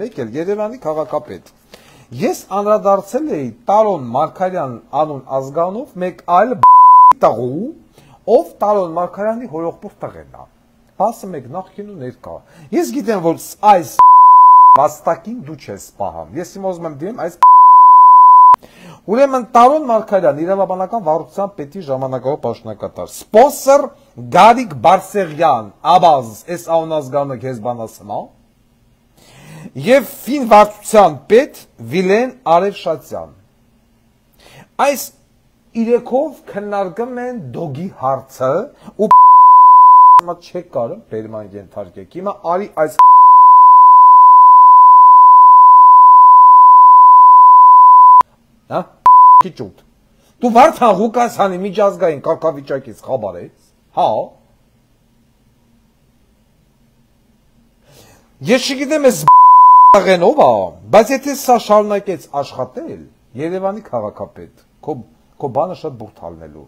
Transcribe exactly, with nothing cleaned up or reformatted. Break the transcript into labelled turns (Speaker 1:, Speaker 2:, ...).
Speaker 1: մեկ էլ Երևանի քաղաքապետ։ Ես անդրադարձել էի Տարոն Մարգարյան անուն ազգանով մեկ այլ տղու, ով Տարոն Մարգարյանի հորեղբոր տղեն է։ Ասը մեկ նախքին ու ներկա։ Ես գիտեմ, որ այս վաստակին դու չես պահամ։ Ես իմ ուզում եմ դիմեմ այս Ուրեմն Տարոն Մարգարյան իրավաբանական վարչության պետի ժամանակավոր պաշտոնակատար, սպոնսոր Գարիկ Բարսեղյան, Աբազ, այս անազգանը քեզ բանասնա, եւ ֆին վարչության պետ Վիլեն Արևշատյան։ Այս իրեքով քննարկում են դոգի հարցը ու մա չեք կարում բերման ենթարկեք։ Հիմա արի այս Հա, քիչուտ։ Դու Վարդան Ղուկասյանի միջազգային կարգավիճակից խաբար ես, հա։ Ես չգիտեմ ես աղենով ա, բայց եթե սա շարունակեց աշխատել, Երևանի քաղաքապետ, քո քո բանը շատ բուրդ հալնելու։